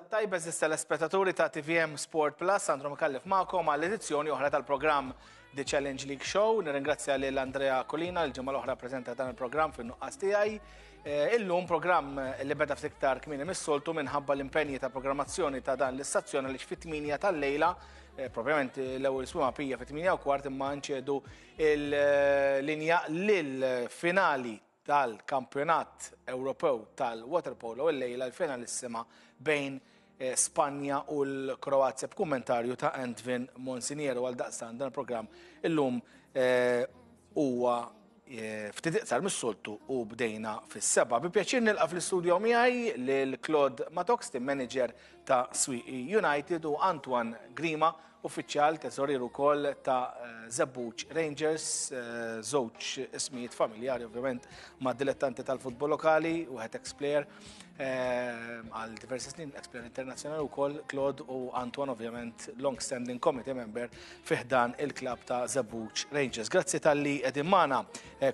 Tajba eżis telespettaturi ta' TVM Sport Plus, Sandro Micallef magħkom għall edizzjoni oħra tal-programm The Challenge League Show. Nirringrazzja lil Andrea Colina l-ġimgħa l-oħra preżenta dan il-programm fin-nuqqas tiegħi. Eh, illum programm li beda ftit iktar kmieni mis-soltu minħabba l-impenji ta' programmazzjoni ta' dan l-istazzjon għaliex fit-8 tal-lejla, eh, propjament l-ewwel swima pija fit-8 u kwart imma nċedu il-linja lil-finali tal-Kampjonat Ewropew tal-Waterpolo illejla l-finalissima bejn eh, Spanja u l-Kroazja b'kummentarju ta' Antvin Monsignero għal daqstan dan il-programm illum eh, huwa eh, ftit iqsar mis-soltu u bdejna fis-seba. Bi pjaċir nilqa' fl-istudio miegħi lil Claude Matox, team manager ta' Swieqi United u Antoine Grima, Uffiċjal teżorier ukoll ta' Żebbuġ Rangers, żewġ ismijiet familjari ovvjament ma' dilettanti tal-futbol lokali, wieħed ex-player għal diversi snin, ex-player internazzjonali wkoll, Claude u Antoine ovvjament long standing committee member fi ħdan il-klabb ta' Żebbuġ Rangers. Grazzi talli qegħdin magħna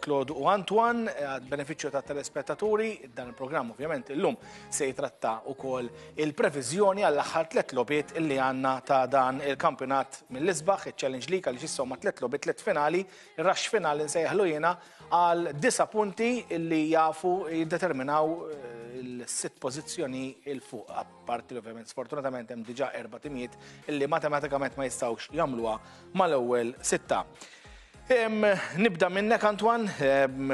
Claude u Antoine, għad benefiċċju ta' telespettaturi, dan il-programm ovvjament illum se jitratta wkoll il-previżjoni għall-aħħar tlett logħbiet li għandna ta' dan il-kampjonat mill-isbaħ, iċ-Challenge League għaliex issa huma tlett logħbiet, tlett finali, ir-rush finali nsejjaħlu jiena għal disa' punti li jafu jiddeterminaw eh, il-sitt pożizzjoni il fuq. Apparti li ovvjament sfortunatament hemm diġà erba' timijiet li matematikament ma jistgħux jagħmluha mal-ewwel sitta. Nibda minnek Antoine,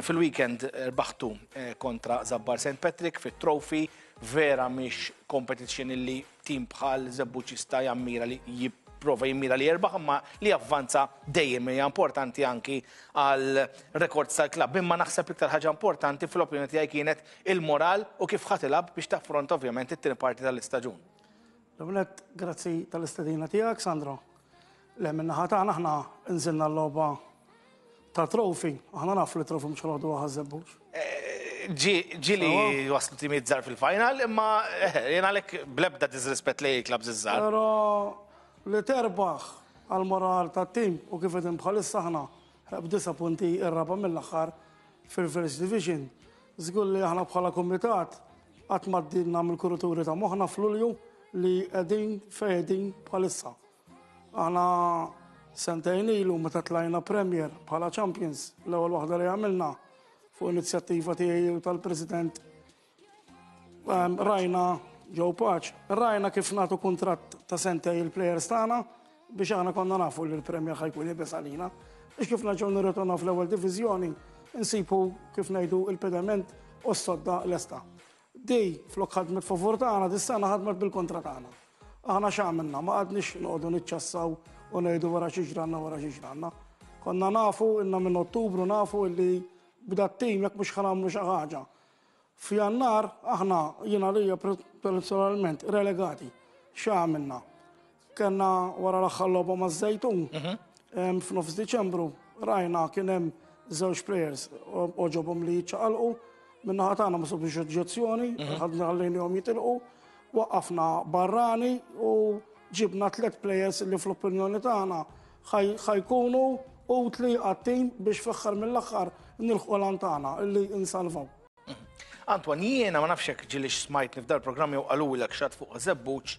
fil-weekend rbaħtu eh, kontra Zabbar St. Patrick fit-trophy Vera mhix competition illi tim bħal Żebbuġ jista' jammira li jipprova jimmira li jerbaħ imma li javvanza dejjem hija importanti anki għal rekords tal-klabb. Imma naħseb l-iktar ħaġa importanti fl-opinjoni tiegħi kienet il-moral u kif ħa tilgħab biex taffronta ovvjament it-tieni parti tal-istaġun. L-ewwel nett grazzi tal-istedina tiegħek Sandro. Le min-naħa tagħna aħna nżilna l-logħba ta' trofi, aħna nafu li trofi mhux ħodu ħażebbuġ. Ġieli waslu timijiet żgħar fil-final, imma eh, jien għalhekk blebda disrispett lejn il-klabs iż-żgħar. Però li terbaħ għal moral tat-tim u kif qegħdin bħalissa aħna b'disa punti ir-raba' mill-aħħar fil-First Division. Żgur li aħna bħala kumitat qatt ma għaddilna mill-kurituri ta' moħħna f'Lulju li qegħdin fejn qegħdin bħalissa. Aħna sentejn ilu meta tlajna Premier bħala Champions, l-ewwel waħda li għamilna fuq inizjattiva tiegħi u tal-President ehm, rajna Joe Paċ, rajna kif nagħtu kuntratt ta' sentej il-players tagħna biex aħna konna nafu li l-Premier ħajkun iebes għalina. Biex kif naġgħu nirritornaw fl-ewwel diviżjoni, insibu kif ngħidu il-pedament u s-sodda lesta. Di, flok ħadmet favur tagħna, dis-sena ħadmet bil-kontra tagħna. Aħna x'għamilna? Ma qgħadniex noqogħdu niċċassaw u ngħidu wara xi ġranna wara xi ġranna. Konna nafu inna minn Ottubru nafu illi bda t-tim jekk mhux ħanamlu xi ħaġa. F'Jannar aħna jien għalija personalment relegati. X'għamilna? Kellna wara l-aħħar logħba maż-Żejtun mhm. f'nofs Diċembru rajna kien hemm żewġ players oġobhom li jiċċaqalqu min-naħa tagħna ma subix oġġezzjoni, mhm. ħadna ħallejnihom jitilqu, waqqafna barrani u ġibna tliet players li fl-opinjoni tagħna ħajkunu utli għat-tim biex fl-aħħar mill-aħħar nilħqu lan tagħna li insalvaw. Antoine, jiena ma nafx jekk ġilix smajtni f'dal programm jew qalulek xat fuq żebbuġ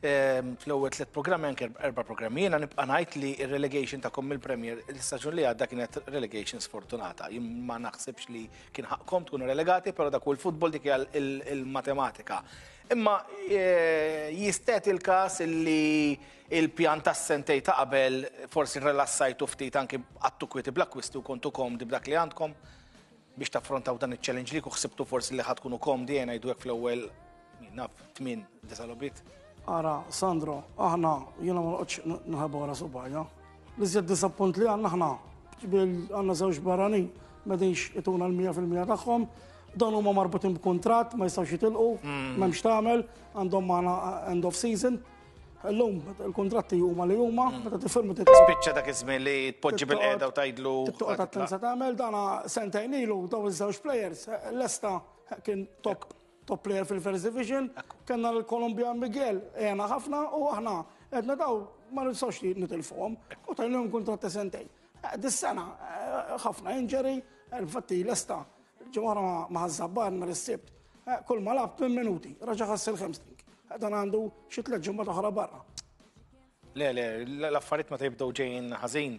ehm, fl-ewwel tliet programmi anke erba' programmi. Jiena nibqa' ngħid li r-relegation ta' mill-Premier l-istaġun li għadda kienet relegation sfortunata. Jien ma naħsibx li kien ħaqkom tkunu relegati, però dak hu l-futbol dik hija il-matematika. Imma eh, jistet il-każ li il-pjan tas-sentej ta' qabel forsi rilassajtu ftit anki għattu kwieti bl-akkwisti u kontu komdi b'dak li għandkom. Biex taffrontaw dan iċ-challenge li ħsibtu forsi li ħa tkunu komdi ejja ngħidu hekk fl-ewwel naf tmien disa' logħbiet? Ara, Sandro, aħna jiena ma noqgħodx nħabba wara subgħajja. L-iżjed disappunt li għandna aħna għandna żewġ barranin m'qegħdinx ituna l-100% tagħhom. Dawn huma marbutin b'kuntratt, ma jistgħux jitilqu, mm. m'hemmx tagħmel, għandhom magħna end of season. Illum il-kuntratti huma li huma, mm. meta tifirmu Spiċċa dak iż-żmien li tpoġġi bil-qiegħda u tgħidlu. Toqgħod attenza tagħmel dana sentejn ilu daw iż-żewġ players lesta kien top top player fil-First Division, kellna l-Kolumbja Miguel għena ħafna u aħna qed daw ma nistgħux li nitilfuhom u tajlhom kuntratt ta' sentejn. Eh, dis-sena eh, ħafna injury, eh, infatti lesta ġimgħa ma ħażabbar nhar is-Sibt, kull ma lab 8 minuti, raġa' ħass il-hamstring. Dan għandu xi tlett ġimgħat oħra barra. Le, le, l-affarijiet meta jibdew ġejjin ħażin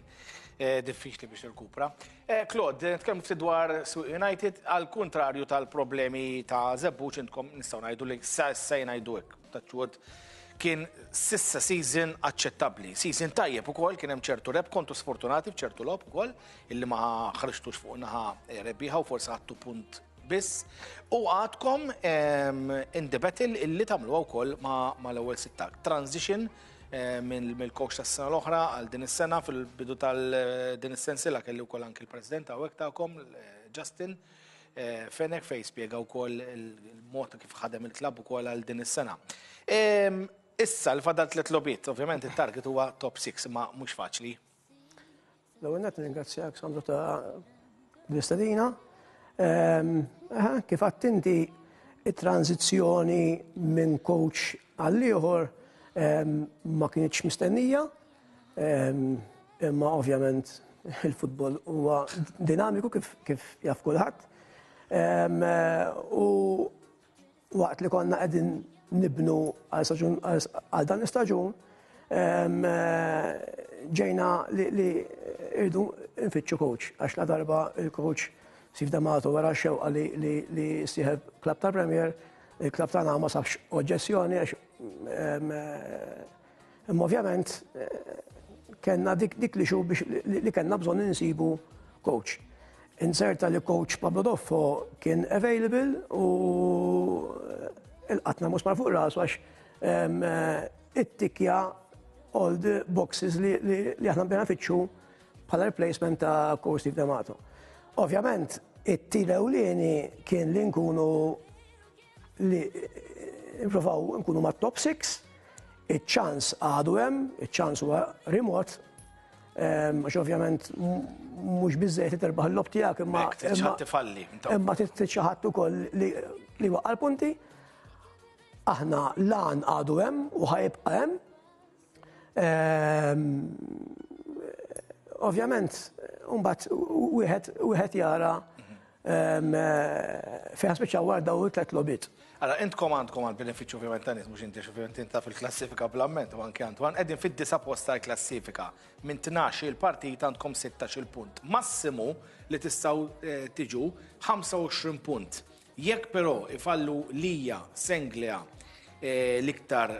eh, diffiċli biex tirkupra. Eh, Claude, nitkellmu ftit dwar Swieqi United, għal kuntrarju tal-problemi ta' Żebbuġ intkom nistgħu ngħidu li sa issa ngħidu hekk, touch kien sissa season aċċettabbli. Season tajjeb ukoll kien hemm ċertu rebħ, kontu sfortunati f'ċertu logħob ukoll illi ma ħriġtux fuq naħa eh, rebbieħa u forsi ħadtu punt biss. U għadkom in the battle illi tagħmluha wkoll ma l-ewwel sitta. Transition eh, mill-coach tas-sena l-oħra għal din is-sena fil-bidu tal-din is-sensila kelli wkoll anki l-president hawnhekk tagħkom eh, Justin eh, Fenech fej spjega wkoll il-mod kif ħadem il-klabb ukoll għal din is-sena. Issa l-fadal tliet logħbiet, ovvjament it-target huwa top 6 ma mhux faċli. L-ewwel nett nirringrazzjak Sandro ta' l-istedina. Kif għedt inti it-tranzizzjoni minn coach għal ieħor ma kienx mistennija, imma ovvjament il-futbol huwa dinamiku kif jaf kulħadd. U waqt li konna qegħdin nibnu għal dan l-istaġun, ġejna li irdu nfittxu coach, għax la darba il-coach Steve D'Amato wara xewqa li sieħeb klab ta' Premier, il-klab tagħna ma sabx oġġezzjoni għax imma ovvjament kellna dik li xu biex li kellna bżonn insibu coach. Inserta li coach Pablo Doffo kien available u il-qatna musmar fuq rasu għax ittikja all the boxes li aħna bdejna nfittxu bħala replacement ta' coach Steve D'Amato. Ovvjament, it-tir ewlieni kien li nkunu li nprovaw nkunu ma' top 6, iċ-ċans għadu hemm, iċ-ċans huwa remot, għax ovvjament mhux biżejjed li terbaħ il-logħob tiegħek imma tifalli. Imma trid xi ħadd ukoll li waqqa' l-punti. Aħna lan għadu hemm u ħajibqa' hemm. Ovvjament, mbagħad wieħed jara fejn spiċċaw wara dawn it-tliet logħbiet. Allora, intkom għandkom għal benefiċċju ovvjament ta' nies mhux inti ovvjament inta fil-klassifika bl-amment u anke Antoine, qegħdin fid-disa' post tal-klassifika. Minn 12 il-partit għandkom 16 punt. Massimu li tistgħu eh, tiġu 25 punt. Jekk però ifallu Lija, Senglea, eh, l-iktar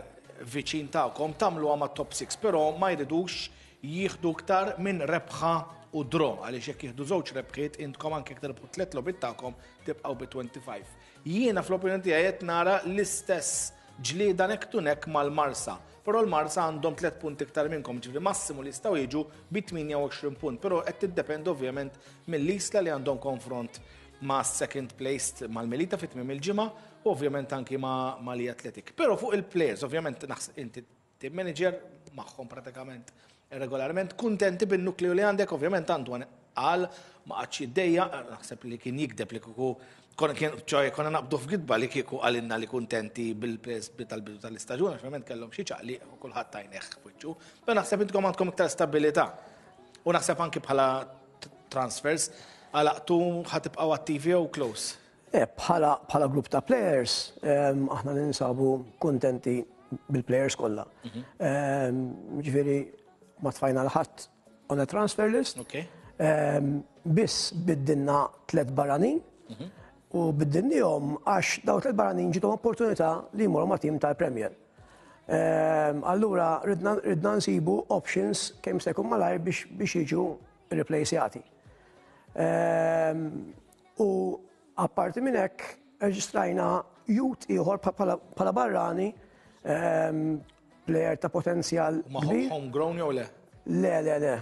viċin tagħkom tagħmluha ma' top 6, però ma jridux jieħdu iktar minn rebħa u draw għaliex jekk jieħdu żewġ rebħiet intkom anke jekk tirbħu tliet logħbiet tagħkom tibqgħu bi 25. Jiena fl-opinjoni tiegħi qed nara l-istess ġlieda neck to neck mal-Marsa. Però l-Marsa għandhom 3 punti iktar minnkom, ġifieri massimu li jistgħu jiġu bi 28 punt, però qed tiddependi ovvjament mill-Isla li għandhom konfront ma' second placed mal-Melita fit tmiem il-ġimgħa u ovvjament anki ma' Mali Athletic. Però fuq il-players, ovvjament naħseb inti team manager magħhom pratikament regolarment, kuntenti bin-nukleu li għandek, ovvjament Antoine qal ma qatx jiddejja, naħseb li kien jikdeb li kieku konna kien ċoħe konna naqbdu f'gidba li kieku għalinna li kuntenti bil-players tal-bidu tal-istaġun, għax ovvjament kellhom xi ċaqli u kulħadd tajneħ f'wiċċu. Però naħseb intkom għandkom iktar stabilità. U naħseb anki bħala transfers għalaqtu ħatibqgħu attivi jew close. Eh, bħala grupp ta' players, aħna ninsabu kontenti bil-players kollha. Ġifieri ma tfajna l-ħadd on a transfer list. Biss biddilna tlet barranin u biddilnihom għax daw tlet barranin ġiethom opportunità li jmorru ma' tim tal-Premier. Allura ridna nsibu options kemm se jkun malajr biex jiġu replaceati. U apparti minn hekk reġistrajna youth ieħor bħala barrani player ta' potenzjal. Ma homegrown jew le? Le, le, le.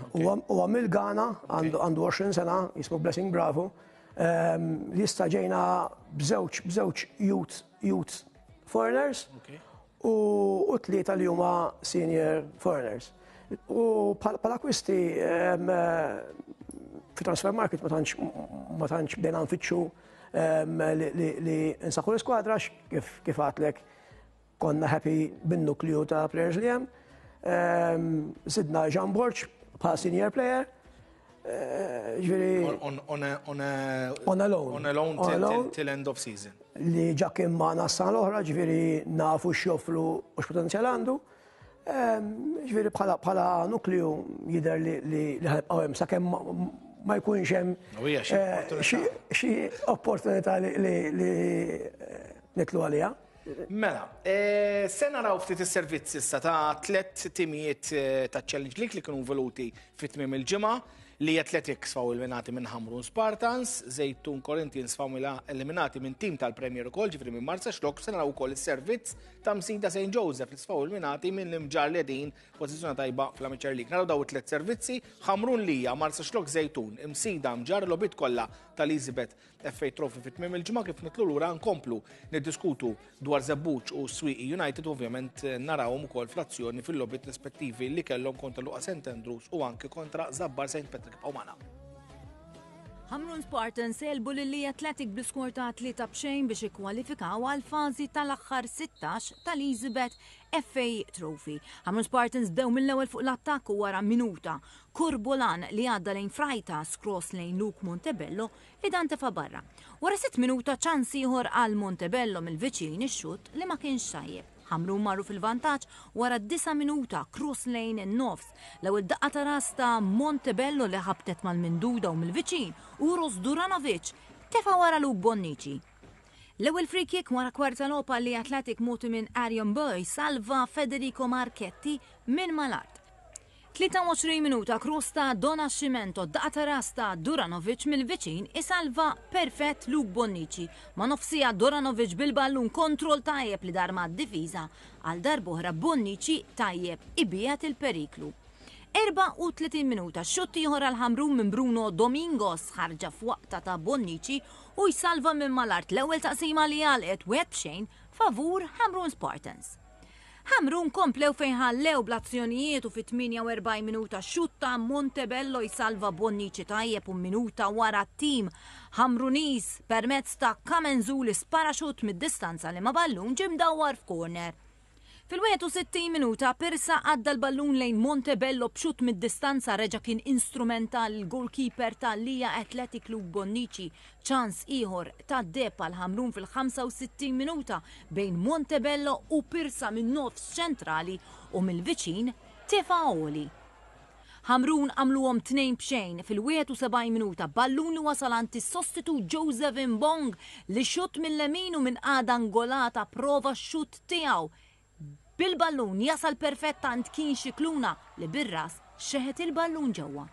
Huwa mill-Ghana, għandu 20 sena, jismu Blessing Bravo. Li issa ġejna b'żewġ b'żewġ youth youth foreigners u tlieta li huma senior foreigners. U bħala akwisti fi transfer market ma tantx bdejna nfittxu li nsaħħu l-iskwadra kif għedtlek konna happy bin-nukleu ta' players li hemm. Sidna Jean Borg bħala senior player. Ġifieri. On a, on a, on a loan. On a loan On a till, loan. till end of season. Li ġa kien magħna s-sena l-oħra, ġifieri nafu x'joffru u x'potenzjal għandu. Ġifieri bħala bħala nukleu jidher li li li ħa nibqgħu hemm sakemm ma jkunx hemm U hija xi opportunità. xi opportunità li li li nitlu għaliha. Mela, se naraw ftit is-servizzi issa ta' tlett timijiet ta' Challenge League li kienu involuti fi tmiem il-ġimgħa, li Athletic sfaw eliminati minn Ħamrun Spartans, Żejtun Corinthians sfaw eliminati minn tim tal-Premier ukoll, ġifieri minn Marsaxlokk, se naraw ukoll is-servizz ta' Msida St. Joseph li sfaw eliminati minn l-Imġarr li qegħdin pożizzjoni tajba fl-Amateur League. Naraw daw it-tliet servizzi, Ħamrun Lija, Marsaxlokk Żejtun, Imsida Mġarr, logħbiet kollha tal-Easybet FA Trophy fi tmiem il-ġimgħa. Kif nitlu lura nkomplu niddiskutu dwar Żebbuġ u Swieqi United u ovvjament narawhom ukoll fl-azzjoni fil-logħbiet rispettivi li kellhom kontra Luqa St Andrews u anki kontra Żabbar St Patrick. Ibqgħu magħna. Ħamrun Spartans għelbu lil Lija Athletic bl-iskor ta' 3-0 biex ikkwalifikaw għall-fażi tal-aħħar 16 tal-Easybet FA Trophy. Ħamrun Spartans bdew mill-ewwel fuq l-attakk u wara minuta Kurbolan li għadda lejn Freitas cross lejn Luke Montebello li dan tefa' barra. Wara sitt minuta ċans ieħor għal Montebello mill-viċin ix-xutt li ma kienx tajjeb. Ħamrun marru fil-vantaġġ wara disa' minuta cross lejn in-nofs. L-ewwel daqqa ta' ras ta' Montebello li ħabtet mal-minduda u mill-viċin Uros Duranovic tefa' wara Luke Bonnici. L-ewwel free kick wara kwarta logħob għal Athletic mogħti minn Arion Boy salva Federico Marchetti minn mal-art. 23 minuta cross ta' Donascimento, daqqa ta' ras ta' Duranovic mill-viċin isalva perfett Luke Bonnici. Ma' nofs siegħa Duranovic bil-ballun kontroll tajjeb li dar mad-difiża għal darb'oħra Bonnici tajjeb ibiegħed il-periklu. 34 minuta xutt ieħor għal Ħamrun minn Bruno Domingos ħarġa f'waqta ta' Bonnici u jsalva minn mal-art l-ewwel taqsima li għalqet 1-0 favur Ħamrun Spartans. Ħamrun komplew fejn ħallew bl-azzjonijiet u fit-48 minuta xutt ta' Montebello jsalva Bonnici tajjeb u minuta wara t-tim Ħamruniż permezz ta' Kamenzuli spara xutt mid-distanza li ma' ballun ġie mdawwar f'corner. Fil-61 minuta Pirsa għadda l-ballun lejn Montebello b'xutt mid-distanza reġa' kien instrumentali l-goalkeeper ta' Lija Athletic Luke Bonnici. Ċans ieħor tad-deheb għal Ħamrun fil-65 minuta bejn Montebello u Pirsa min-nofs ċentrali u mill-viċin tefa' għoli. Ħamrun għamluhom 2-0 fil-71 minuta ballun li wasal għand is-sostitut Joseph Mbong li xutt mil-lemin u minn qagħda angolata prova x-xutt tiegħu bil-ballun jasal perfett għand Kien Scicluna li bir-ras xeħet il-ballun ġewwa.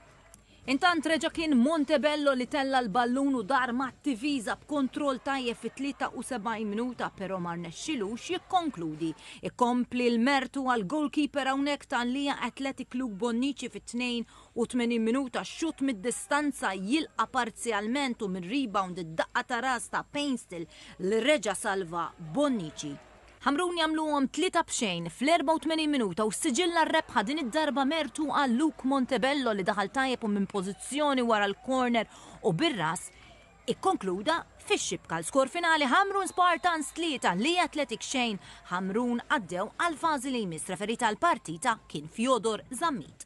Intant reġa' kien Montebello li tella' l-ballun u dar mat-difiża b'kontroll tajjeb fit-73 minuta però ma rnexxilux jikkonkludi. Ikompli l-mertu għal goalkeeper hawnhekk ta' Lija Athletic Luke Bonnici fit-82 minuta xutt mid-distanza jilqa' parzjalment u minn rebound id-daqqa ta' ras ta' Painstil li reġa' salva Bonnici. Ħamrun jagħmluhom 3-0 fl-84 minuta u ssiġilla r-rebħa din id-darba mertu għal Luke Montebello li daħal tajjeb u minn pożizzjoni wara l-corner u bir-ras ikkonkluda fix-xibka. L-skor finali Ħamrun Spartans 3, Lija Athletic xejn. Ħamrun għaddew għall-fażi li jmiss. Referee tal-partita kien Fyodor Zammit.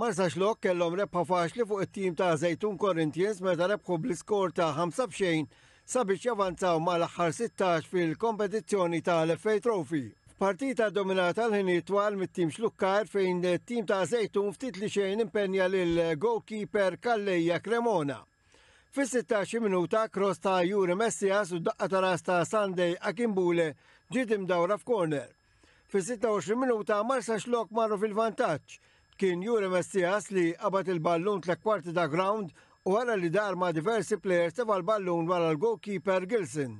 Marsaxlokk kellhom rebħa faċli fuq it-tim ta' Żejtun Corinthians meta rebħu bl-iskor ta' 5-0 sabiex javanzaw mal-aħħar 16 fil-kompetizzjoni tal-FA Trophy. F'partita dominata l-ħinijiet twal mit-tim Xlukkar fejn it-tim ta' Żejtun ftit li xejn impenja lil goalkeeper Calleja Cremona. Fis-16 minuta cross ta' Juri Messias u daqqa ta' ras ta' Sunday Akinbule ġiet imdawra f'corner. Fis-26 minuta Marsaxlokk marru fil-vantaġġ. Kien Juri Messias li qabad il-ballun tliet kwarti ta' ground u wara li dar ma' diversi players tefa' l-ballun wara l-goalkeeper Gilson.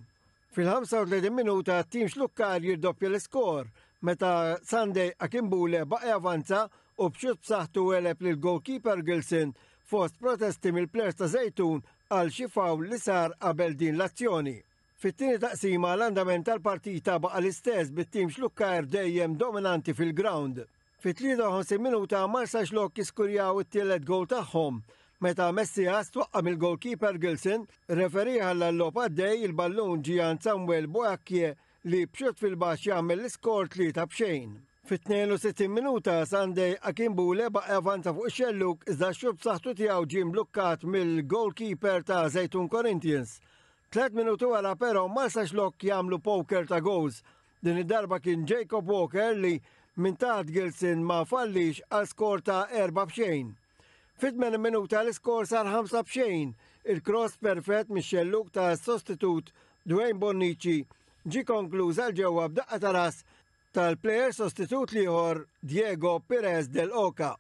Fil-35 minuta t-tim Xlukkar jirdoppja l-iskor meta Sunday Akinbule baqa' javanza u b'xutt b'saħħtu għeleb lil goalkeeper Gilson fost protesti mill-players ta' Żejtun għal xi foul li sar qabel din l-azzjoni. Fit-tieni taqsima l-andament tal-partita baqa' l-istess bit-tim Xlukkajr dejjem dominanti fil-ground. Fit-53 minuta Marsaxlokk jiskurjaw it-tielet goal tagħhom meta Messias twaqqa' mill-goalkeeper Gilson, referee ħalla l-logħob għaddej, il-ballun ġie għand Samuel Boakye. li b'xutt fil-baxx jagħmel l-iskor 3 b'xejn. Fit-62 minuta Sunday Akinbule baqa' javanza fuq ix-xellug iżda x-xutt b'saħħtu tiegħu ġie mblukkat mill-goalkeeper ta' Żejtun Corinthians. Tlet minuti wara però Marsaxlokk jagħmlu poker ta' goals. Din id-darba kien Jacob Walker li minn taħt Gilson ma fallix għal skor ta' 4 b'xejn. Fit-80 minuta l-iskor sar 5 b'xejn. Il-cross perfett mix-xellug ta' sostitut Dwayne Bonnici ġie konkluż għal ġewwa b'daqqa ta' ras tal-plejer sostitut l-ieħor Diego Perez del Oca.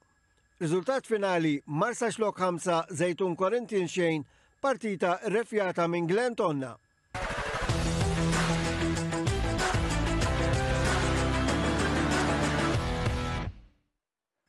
Riżultat finali Marsaxlokk 5, Żejtun Corinthians xejn, partita rrefjata minn Glenn Tonna.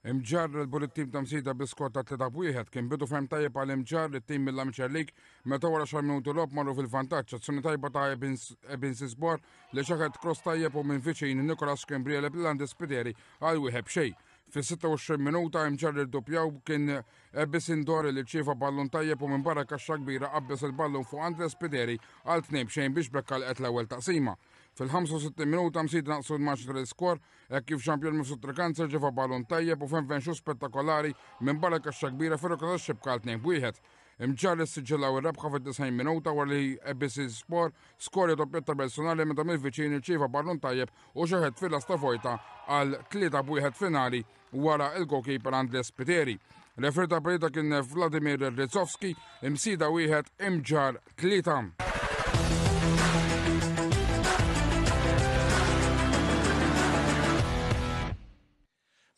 Imġarr rebħu lit-tim ta' Msida bi skor ta' 3 b'wieħed. Kien bidu ferm tajjeb għal Imġarr lit-tim mill-Amateur League meta wara xar minuti logħob marru fil-vantaġġ. Azzjoni tajba ta' Ebin Sisbor li xaħet cross tajjeb u minn viċin Nicolas Schembri għeleb lil Andy Spiteri għal wieħed b'xejn. Fis-26 minuta Imġarr irdoppjaw kien Ebis Indori li rċieva ballun tajjeb u minn barra kaxxa kbira qabbeż il-ballun fuq Andre Spiteri għal tnejn b'xejn biex b'hekk għalqet l-ewwel taqsima. Fil-65 minuta Msida naqsu l-marġni tal-iskor hekk kif Jean-Pierre Mifsud Trekanza rċieva ballun tajjeb u f'enven xutt spettakolari minn barra kaxxa kbira fir-rokna tax-xibka għal 2 b'wieħed. Imġarr issiġġillaw ir-rebħa fid-90 minuta wara li ABC Sport skorja doppjetta personali meta mill-viċin irċieva ballun tajjeb u xeħet fil-lasta vojta għal 3 b'wieħed finali wara il-goalkeeper Andres Spiteri. Referee ta' partita kien Vladimir Rizovski, imsida wieħed imġar tlieta.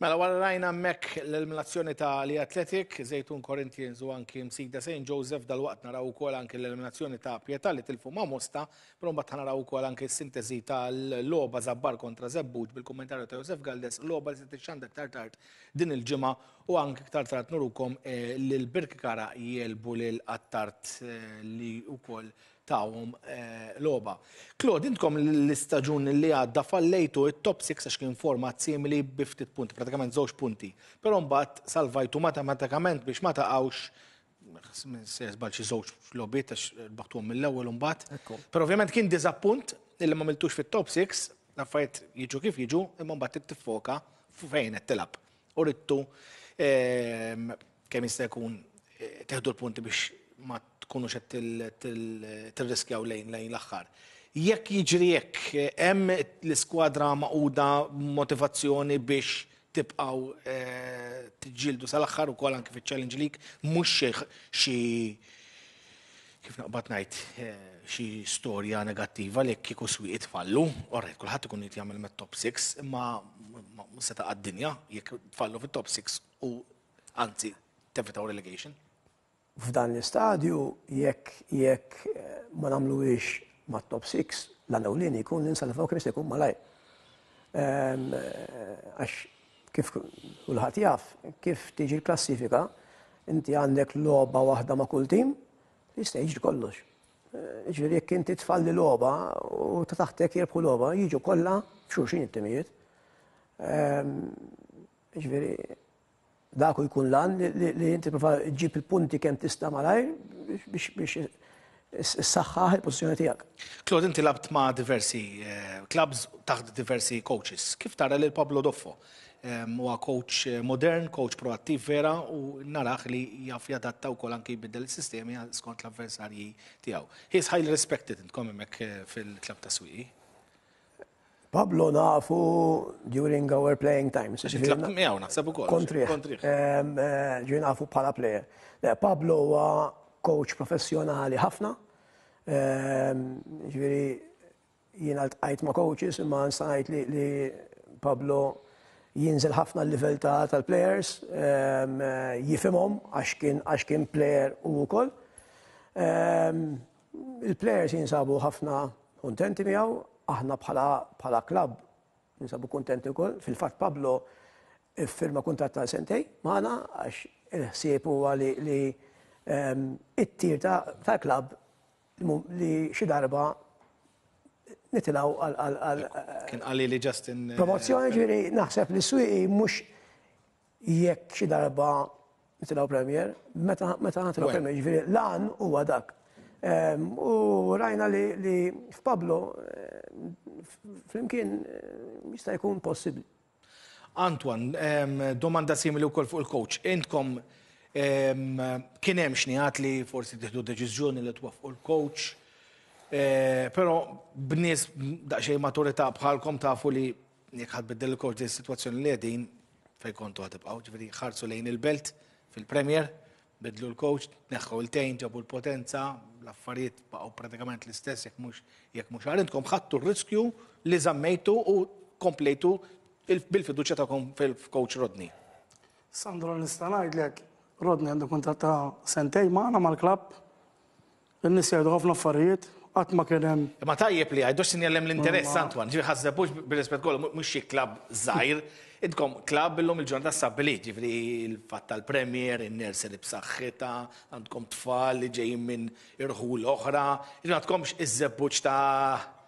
Mela wara rajna hemmhekk l-eliminazzjoni ta' li Athletic, Zejtun Corinthians u anki Msida St. Joseph dal-waqt naraw ukoll anki l-eliminazzjoni ta' Pietà li tilfu ma' Mosta, però mbagħad naraw ukoll anki s-sintesi tal-logħba Żabbar kontra Żebbuġ bil-kummentarju ta' Josef Galdes, logħba li se tixxandar iktar tard din il-ġimgħa u anki iktar tard nurukom eh, lil Birkikara jelbu lil Attard eh, li wkoll tawhom eh, logħba. Claude, intkom l-istaġun li għadda fallejtu it-top 6 għax kien format simili bi ftit punti, pratikament żewġ punti. Però mbagħad salvajtu matematikament biex ma taqgħux se żball xi żewġ logħbiet għax rbaħtuhom mill-ewwel u mbagħad. Però ovvjament kien diżappunt illi ma miltux fit-top 6, l-affarijiet jiġu kif jiġu, imma mbagħad trid tiffoka fejn qed tilgħab. U ridtu ehm, kemm jista' jkun eh, teħdu l-punti biex ma tkunux qed tirriskjaw lejn lejn l-aħħar. Jekk jiġri hekk, hemm l-iskwadra maquda motivazzjoni biex tibqgħu tiġġieldu sal-aħħar ukoll anke fiċ-Challenge League, mhux xi kif naqbad ngħid xi storja negattiva li kieku swieq tfallu, orrejt kulħadd ikun jrid jagħmel mit-top 6, imma mhux se taqa' d-dinja jekk tfallu fit-top 6 u anzi tevitaw relegation. F'dan l-istadju jekk jekk ma nagħmluhiex mat-top 6, l-għan ewlieni jkun li nsalvaw kemm jista' jkun malajr. Ehm, għax kif kulħadd jaf, kif tiġi l-klassifika, inti għandek logħba waħda ma' kull tim, jista' jiġri kollox. Eh, ġifieri jekk inti tfalli logħba u ta' taħtek jirbħu logħba, jiġu kollha f'xulxin it-timijiet. Ehm, ġifieri Dak hu jkun l-għan li inti prova ġġib il-punti kemm tista' malajr biex issaħħaħ il-pożizzjoni tiegħek. Claude, inti labt ma' diversi eh, clubs taħt diversi coaches. Kif tara lil Pablo Doffo? Huwa coach eh, modern, coach proattiv vera u naraħ li jaf jadatta wkoll anki jbiddel is-sistemi skont l-avversarji tiegħu. He is highly respected intkom hemmhekk eh, fil-klabb ta' Swieqi. Pablo nafu during our playing times. Tlaqt miegħu naħseb ukoll. Kontrih. Eh, ġi nafu bħala player. Pablo huwa coach professjonali ħafna. Ġifieri jiena ltqajt ma' coaches imma nista' ngħid li Pablo jinżel ħafna l-livell tal-players, jifhimhom għax kien għax kien player u wkoll. Il-players jinsabu ħafna kuntenti miegħu, aħna bħala bħala klabb ninsabu kuntenti wkoll. Fil-fatt Pablo iffirma kuntratt ta' sentej magħna għax il-ħsieb huwa li, li ehm, it-tir tal-klabb li xi darba nitilgħu għal għal Kien qali li Justin eh, Promozzjoni ġifieri naħseb li swieqi mhux jekk xi darba nitilgħu Premier, meta meta nitilgħu Premier, ġifieri l-għan huwa dak. Ehm, u rajna li, li f'Pablo eh, flimkien jista' jkun possibbli. Antoine, domanda simili wkoll fuq il-coach. Intkom kien hemm xnigħat li forsi tieħdu deċiżjoni li twaffqu l-coach, però b'nies daqsxejn maturità bħalkom tafu li jekk ħa tbiddel il-coach din is-sitwazzjoni li qegħdin fejn kontu ħa tibqgħu, ġifieri ħarsu lejn il-Belt fil-Premier, bidlu l-coach, tneħħu il-tejn, ġabu l-potenza, l-affarijiet baqgħu pratikament l-istess jekk mhux jekk mhux agħar. Intkom ħadtu r-riskju li żammejtu u komplejtu bil-fiduċja tagħkom fil-coach Rodney. Sandro nista' ngħidlek, Rodney għandu kuntratt ta' sentejn magħna mal-klabb. In-nies jgħidu ħafna affarijiet, qatt ma kien hemm. Imma tajjeb li jgħidu sinjal hemm l-interess, Antoine. Ġifieri Ħaż-Żebbuġ bir-rispett kollu mhux xi klabb żgħir. Intkom klabb illum il-ġurnata stabbilit, ġifieri l-fatt tal-Premier, in-nursery b'saħħitha, għandkom tfal li ġejjin minn irħul oħra. Ġifieri m'għandkomx iż-Żebbuġ ta'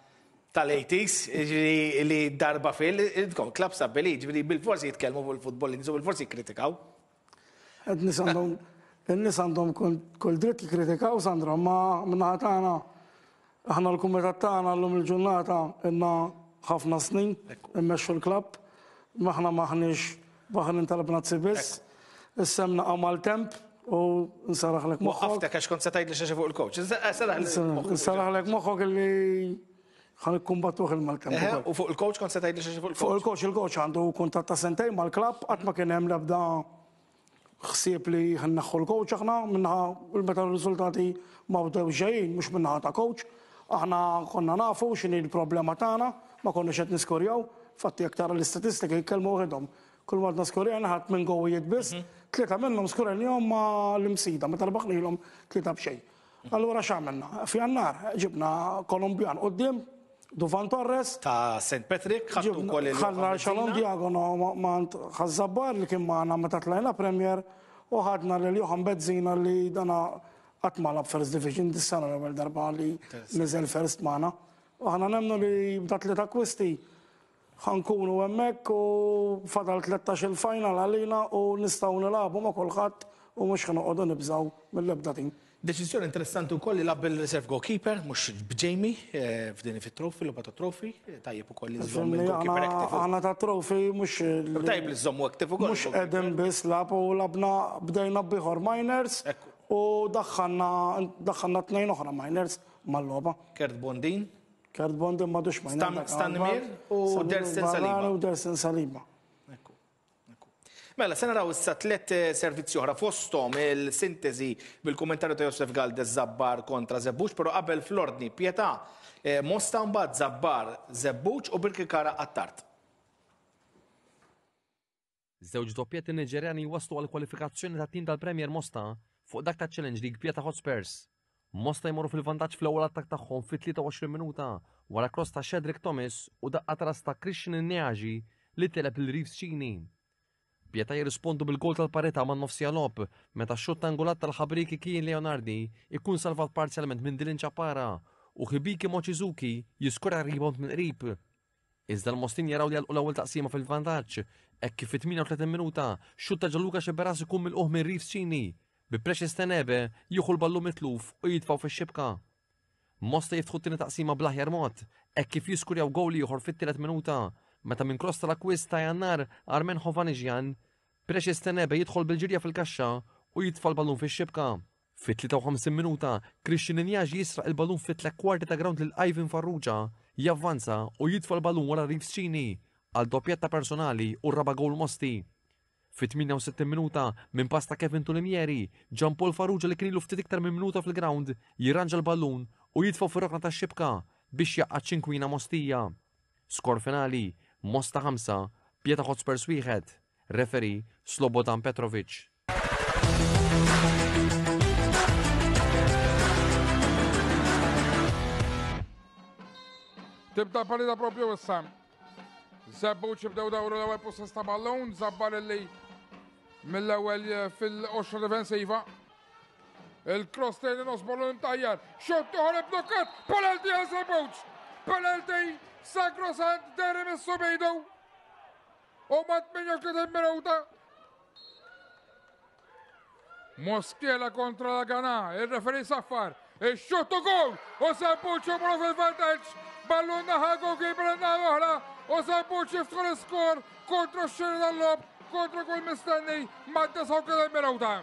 tal-80s, ġifieri li darba fil, intkom klabb stabbilit, ġifieri bilfors jitkellmu fuq il-futbol, in-nies u bilfors jikkritikaw. In-nies għandhom in-nies għandhom kull dritt jikkritikaw Sandra, ma min-naħa tagħna aħna l-kumitat tagħna llum il-ġurnata ilna ħafna snin immexxu l-klabb, aħna m'aħniex baħrin tal-bnazzi biss. Issa hemm naqa' maltemp u nsaraħlek moħħok. Waqqaftek għax kont se tgħidli xi fuq il-coach. Nsaraħlek moħħok illi Ħa nikkumbattuh il-maltemp ukoll. U fuq il-coach kont se tgħidli xi fuq il-coach? Fuq il-coach, il-coach għandu kuntratt ta' sentejn mal-klabb, qatt ma kien hemm l-ebda ħsieb li ħa nneħħu l-coach aħna min-naħa meta r-riżultati ma bdewx ġejjin, mhux min-naħa ta' coach. Aħna konna nafu x'inhi l-problema tagħna, ma konniex qed niskurjaw. Infatti jekk tara l-istatistika jitkellmu waħedhom. Kull ma għadna skurjajna ħadd minn gowijiet biss, tlieta minnhom skurajnihom ma' l-Imsida meta rbaħnilhom 3-0. Allura x'għamilna? F'Jannar ġibna Kolumbjan quddiem, Duvan Torres. Ta' St. Patrick, ħadtu wkoll il Ħadna Shalom Diagono m'għand Ħaż-Żabbar li kien magħna meta tlajna Premier u ħadna lil Johan Bezzina li dana qatt ma lagħab First Division, dis-sena l-ewwel darba li niżel First magħna. U aħna nemmnu li b'dat-tliet akkwisti Ħa nkunu hemmhekk u fadal 13-il final għalina u nistgħu nilagħbu ma' kulħadd u mhux ħa noqogħdu nibżgħu mill-ebda tim. Deċiżjoni interessanti wkoll li lagħab bil-reserve goalkeeper mhux b'Jamie f'din fit-trophy, logħba tat-trophy. Tajjeb ukoll li żżomm il-goalkeeper active. Aħna tat-trophy mhux. Tajjeb li żżommu active ukoll. Mhux qegħdin biss lagħab u lagħabna bdejna b'ieħor minors u daħħalna daħħalna tnejn oħra minors mal-logħba. Kurt Bondin. Kurt Bondin m'għadux ma jnaqbel. Stanimir u Dersin Saliba. U Dersin Saliba. Mela, se naraw issa tlet eh, servizzi oħra fosthom il-sintesi bil-kummentarju ta' Josef Galdes Zabbar kontra Zebbuċ, però qabel fl-ordni Pietà eh, Mosta mbagħad Zabbar Zebbuċ u Birkirkara Attard. Żewġ doppjetti Niġerjani jwasslu għall-kwalifikazzjoni tat-tim tal-Premier Mosta fuq dak taċ-Challenge League Pieta Hotspurs. Mosta jmorru fil-vantaġġ fl-ewwel attakk tagħhom fit-23 minuta wara cross ta' Shedrick Thomas u daqqa ta' ras ta' Christian Nneaji li teleb lil Reeves Cini. Pieta jirrispondu bil-gowl tal-parità man-nofsija logħob meta x-xutt angolat tal-ħabrieki Kian Leonardi jkun salvat parzjalment minn Dylan Ciappara u Hibiki Mochizuki jiskora rebound mill-qrib. Iżda l-Mostin jaraw li jagħlqu l-ewwel taqsima fil-vantaġġ hekk kif fit-38 minuta xutt ta' Gianluca Sceberras ikun milqugħ minn Reeves Cini, bi Precious Tenebe jieħu l-ballun mitluf u jitfgħu fix-xibka. Mosta jiftħu t-tieni taqsima bl-aħjar mod hekk kif jiskurjaw gowl ieħor fit-tielet minuta meta minn kross tal-akkwist ta' Jannar Armen Hovhannisyan, Precious Tenebe jidħol bil-ġirja fil-kaxxa u jitfa' l-ballun fix-xibka. Fit-53 minuta, Christian Injaji jisraq il-ballun fi tlett kwarti ta' grawnd lil Ivan Farrugia, javvanza u jitfa' l-ballun wara Reeves Cini għal doppjetta personali u r-raba' gowl Mosti. Fit-68 minuta, minn pass ta' Kevin Tulimieri, Jean Paul Farrugia li kien ilu ftit iktar minn minuta fil-grawnd jirranġa l-ballun u jitfgħu fir-rokna tax-xibka biex jgħaqqad ċinkwina Mostija. Skor finali, Mosta 5, Pieta Hotspurs 1. Referee, Slobodan Petrovic. Tibda l-partita propju issa. Żebbuċ jibdew dawru l-ewwel possess ta' ballun, Zabbar illi mill-ewwel eh, fil-qoxra difensiva. Il-cross lejn in-nos ballun imtajjar. Xutt uħor blokkat, penalty għal Żebbuġ. Penalty sagrosant deri mis-subidu. U ma' 38 minuta. Mosquera kontra la Gana, il-referee saffar. Ix-xutt u goal u Sambuċ jmorru fil-vantaġġ. Ballun naħa goalkeeper in-naħa l-oħra u Sambuċ jiftħu l-iskor kontra x-xiri tal-logħob kontra kull mistenni mad-39 minuta.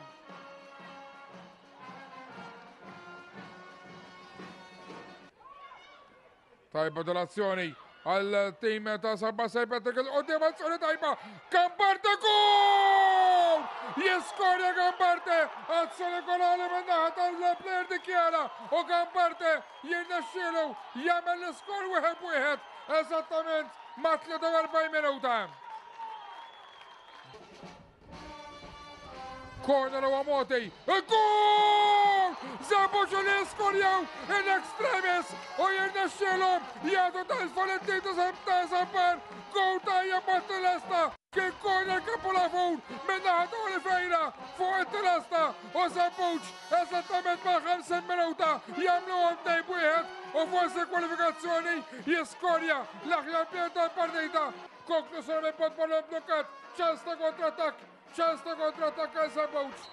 Tajba dal-azzjoni għal tim ta' Sabba Serpente il qoddim azzjoni tajba. Gambarte gol! Jiskorja Gambarte! Azzjoni golali minn naħa tal-plejer dikjara u Gambarte jirnexxielu jagħmel l-iskor wieħed wieħed eżattament ma' 43 minuta. Corner huwa Moti. Il-gol! Żabuġu li skorjaw in extremis u jirnexxielhom jagħtu telfa lit-tim ta' Zambar. Goal tajjeb mat-tilesta. Kien corner kapulavur minn naħa ta' Oliveira fuq it-tilesta u Żebbuġ eżattament mal-50 minuta jagħmluhom tnejn b'wieħed u forsi kwalifikazzjoni jiskorja l-aħjar player tal-partita. Konklużjoni minn bot ballon blokkat, ċans ta' kontrattakk Ċans ta' kontrattakk għal Żebbuġ.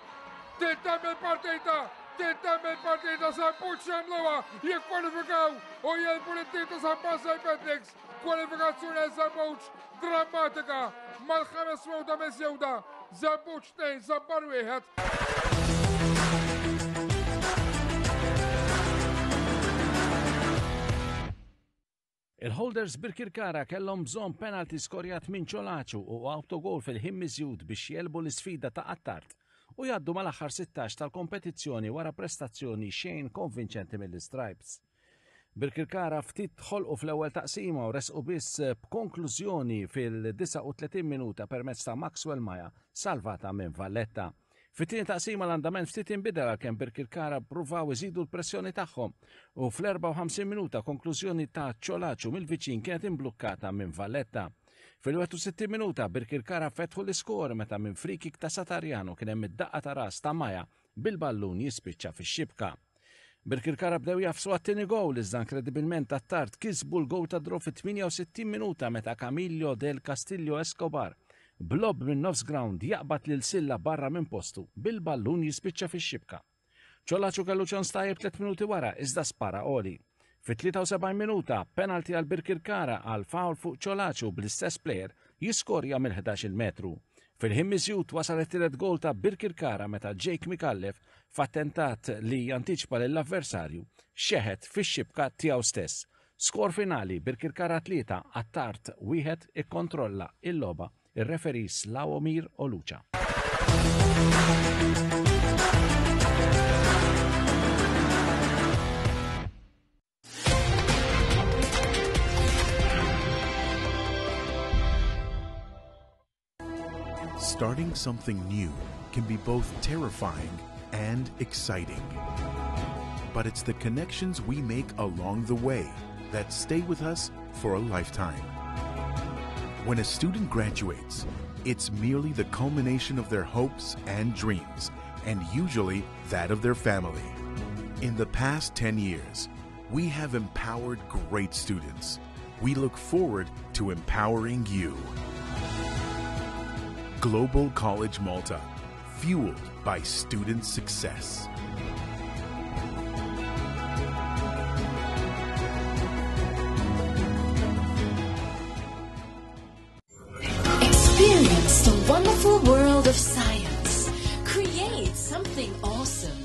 Tintemm il-partita, tintemm il-partita Żebbuġ jagħmluha, jikkwalifikaw u jegħlbu lit-tim ta' San Pawl St. Patrick's. Kwalifikazzjoni għal Żebbuġ drammatika mal-ħames minuta miżjuda. Żebbuġ 2, Żabbar 1. Il-holders Birkirkara kellhom bżonn penalty skorjat minn Ciolacu u autogol fil-ħin miżjud biex jegħlbu l-isfida ta' Attard u jgħaddu mal-aħħar 16 tal-kompetizzjoni wara prestazzjoni xejn konvinċenti mill-Istripes. Birkirkara ftit ħolqu fl-ewwel taqsima u resqu biss b'konklużjoni fil-39 minuta permezz ta' Maxwell Maja salvata minn Valletta. Fit-tieni taqsima l-andament ftit inbidel għalkemm Birkirkara ppruvaw iżidu l-pressjoni tagħhom u fl-54 minuta konklużjoni ta' Ciolacu mill-viċin kienet imblukkata minn Valletta. Fil-61 minuta Birkirkara fetħu l-iskor meta minn free-kick ta' Satariano kien hemm id-daqqa ta' ras ta' Maja bil-ballun jispiċċa fix-xibka. Birkirkara bdew jagħfsu għat-tieni gowl iżda inkredibilment Attard kisbu l-gowl ta' draw fit-68 minuta meta Camillo del Castillo Escobar b'lob minn nofs ground jaqbad lil Silla barra minn postu bil-ballun jispiċċa fix-xibka. Ciolacu kellu ċans tajjeb tliet minuti wara iżda spara għoli. Fit-73 minuta, penalty għal Birkirkara għal foul fuq Ciolacu bl-istess plejer jiskorja mill-ħdax-il metru. Fil-ħin miżjud wasal it-tielet gowl ta' Birkirkara meta Jake Micallef f'attentat li jantiċipa lill-avversarju xeħet fix-xibka tiegħu stess. Skor finali, Birkirkara 3, Attard 1 ikkontrolla il-logħba ir-referee Slawomir Olucha. Starting something new can be both terrifying and exciting. But it's the connections we make along the way that stay with us for a lifetime. When a student graduates, it's merely the culmination of their hopes and dreams, and usually that of their family. In the past 10 years, we have empowered great students. We look forward to empowering you. Global College Malta, fueled by student success. Experience the wonderful world of science. Create something awesome.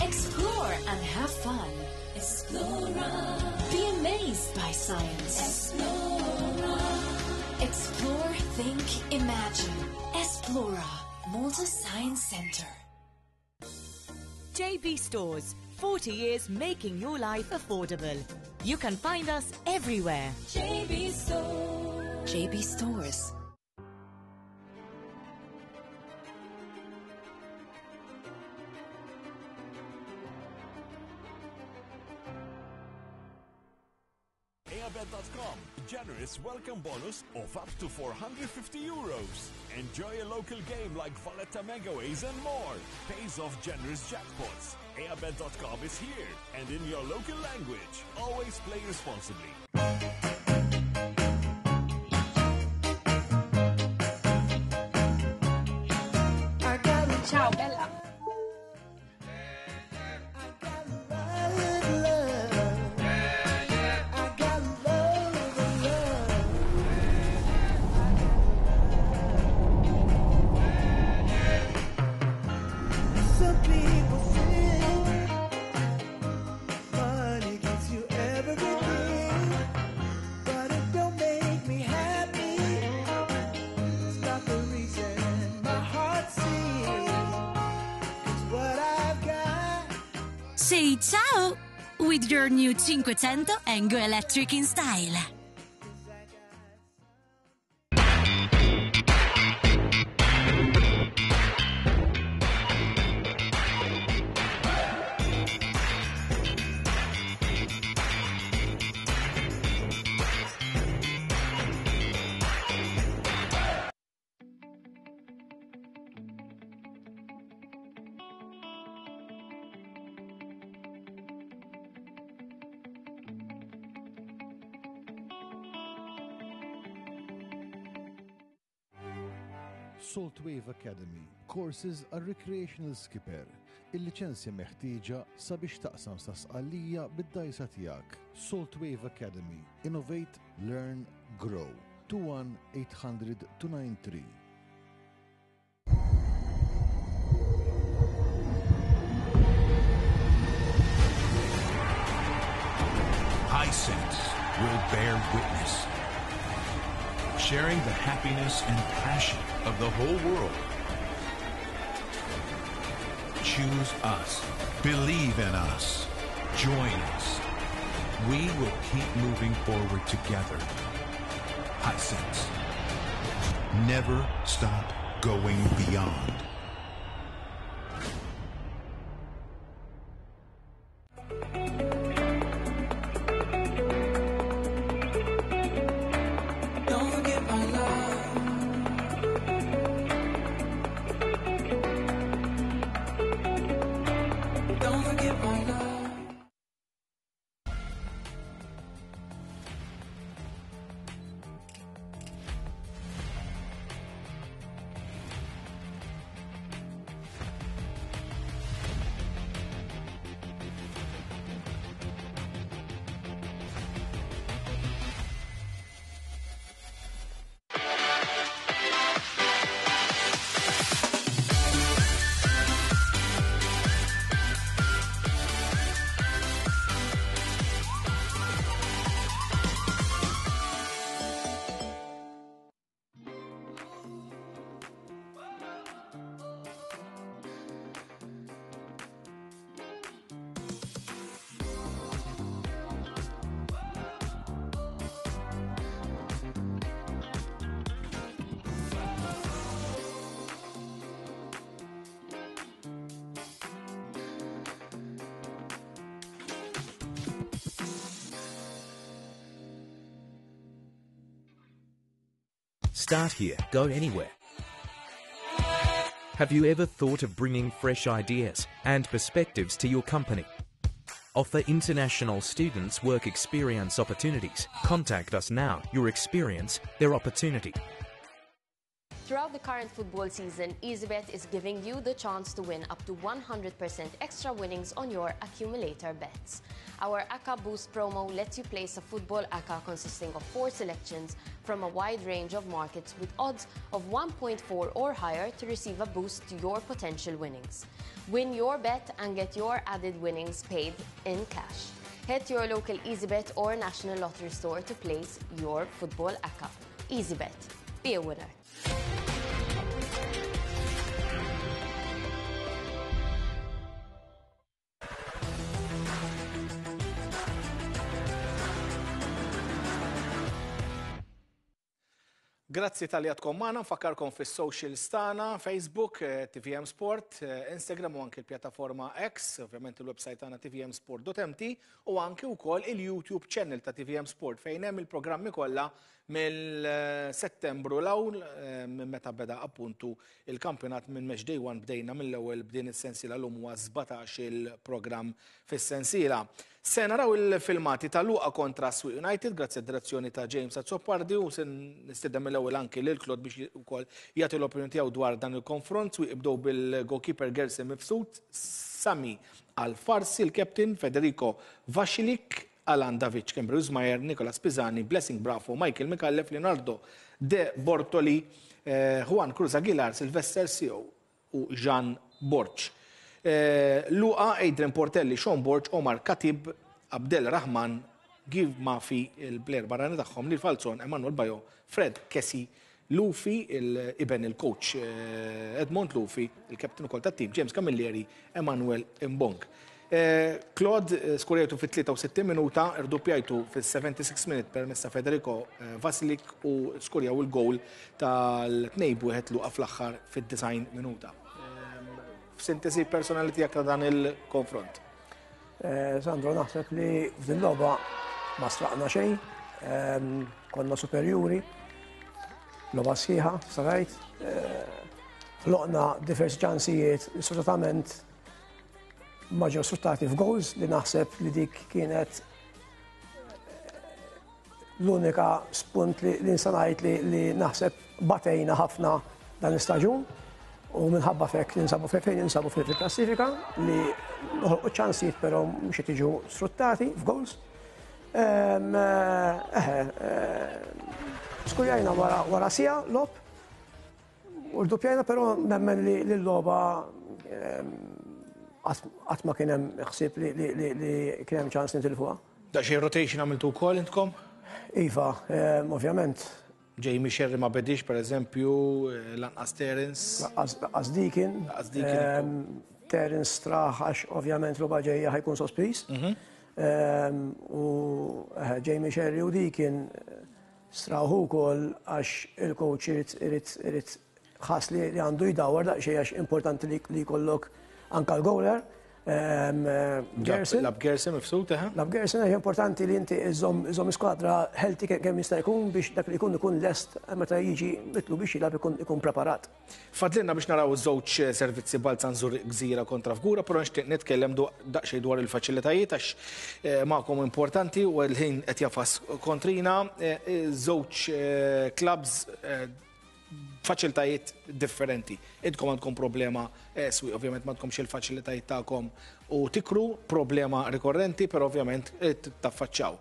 Explore and have fun. Explora. Be amazed by science. Explora. Explore, think, imagine. Esplora, Malta Science Center. JB Stores, 40 years making your life affordable. You can find us everywhere. JB Stores. JB Stores. Airabet.com, generous welcome bonus of up to 450 euros. Enjoy a local game like Valletta Megaways and more. Pays off generous jackpots. Airabet.com is here and in your local language. Always play responsibly. Ciao, bella. Say ciao with your new Cinquecento and go electric in style. Saltwave Academy, courses għal recreational skipper, il-liċenzja meħtieġa sabiex taqsam sa Sqallija bid-dgħajsa tiegħek. Saltwave Academy, innovate, learn, grow. 21 800 293. Hisense will bear witness, sharing the happiness and passion of the whole world. Choose us. Believe in us. Join us. We will keep moving forward together. Hisense. Never stop going beyond. Don't forget my love. Don't forget my love. Start here, go anywhere. Have you ever thought of bringing fresh ideas and perspectives to your company? Offer international students work experience opportunities. Contact us now. Your experience, their opportunity. Throughout the current football season, EasyBet is giving you the chance to win up to 100% extra winnings on your accumulator bets. Our ACCA Boost promo lets you place a football ACCA consisting of four selections from a wide range of markets with odds of 1.4 or higher to receive a boost to your potential winnings. Win your bet and get your added winnings paid in cash. Head to your local EasyBet or National Lottery store to place your football ACCA. EasyBet. Be a winner. Grazzi talli għadkom magħna, nfakkarkom fis-socials tagħna, Facebook, eh, TVM Sport, eh, Instagram u anki l-pjattaforma X, ovvjament il-website tagħna tvmsport.mt u anki wkoll il-YouTube channel ta' TVM Sport fejn hemm il-programmi kollha Mill-Settembru 'l hawn, minn meta beda appuntu il-kampjonat minn Match Day One bdejna mill-ewwel b'din is-sensiela llum huwa 17-il programm fis-sensiela. Se naraw il-filmati ta' Luqa kontra Swieq United grazzi għad-direzzjoni ta' James Azzopardi u se nistieden mill-ewwel anki lil Claude biex ukoll jagħti l-opinjoni tiegħu dwar dan il-konfront. Swieq bdew bil-goalkeeper Gerson Mifsud, Sami Alfarsi, il-captain Federico Vasilik, Alan Davic, Kembrew Zmajer, Nicolas Pisani, Blessing Brafo, Michael Micallef, Leonardo De Bortoli, Juan Cruz Aguilar, Sylvester Sio u Jean Borg. Luqa, Adrian Portelli, Sean Borg, Omar Khatib, Abdel Rahman, Give Mafi, il-plejer barrani tagħhom, Neil Falzon, Emmanuel Bayo, Fred Kessie, Lufi, iben il-coach Edmond Lufi, il-captain ukoll tat-tim, James Camilleri, Emmanuel Mbong. Claude, skurjajtu fit-63 minuta, irduppjajtu fis-76 minute permezz ta' Federico Vasilik u skurjaw il-gowl tal-2-1 Luqa fl-aħħar fid-90 minuta. F'sintesi personali tiegħek ta' dan il-konfront. Sandro, naħseb li f'din logħba ma straqna xejn, konna superjuri, logħba sħiħa, sarajt, ħloqna diversi ċansijiet, sfortunatament ma ġew sfruttati f'goals li naħseb li dik kienet l-unika spunt li nista' ngħid li naħseb batejna ħafna dan l-istaġun u minħabba fek ninsabu fejn ninsabu fil-klassifika li noħolqu ċansijiet però mhux qed jiġu sfruttati f'goals. Eħe, skurjajna wara siegħa logħob U rduppjajna però nemmen li l-logħba qatt ma kien hemm ħsieb li kien hemm ċans nitilfuha. Daqsxejn rotation għamiltu wkoll intkom? Iva, ovvjament. Jamie Sherry ma bedix per eżempju, lanqas Terence. Lanqas Deakin. Lanqas Deakin. Terence straħ għax ovvjament logħba ġejja ħajkun sospiż. U Jamie Sherry u Deakin Straħu wkoll għax il-coach irid irid irid ħass li għandu jdawwar daqsxejn għax importanti li jkollok anka l-gowler. Gerson. Lab Gerson mifsud, eħe. Lab Gerson, għax importanti li inti iżomm iskwadra healthy kemm jista' jkun biex dak li jkun ikun lest meta jiġi mitlu biex jilgħab ikun preparat. Fadlilna biex naraw iż-żewġ servizzi Balzan Żurrieq Gżira kontra Fgura, però nixtieq nitkellem daqsxejn dwar il-faċilitajiet għax magħkom importanti u l-ħin qed jafas kontrina. Żewġ clubs faċilitajiet differenti. Intkom għandkom problema swieq, ovvjament m'għandkomx il-faċilitajiet tagħkom u tikru, problema rikorrenti, però ovvjament taffaċċaw.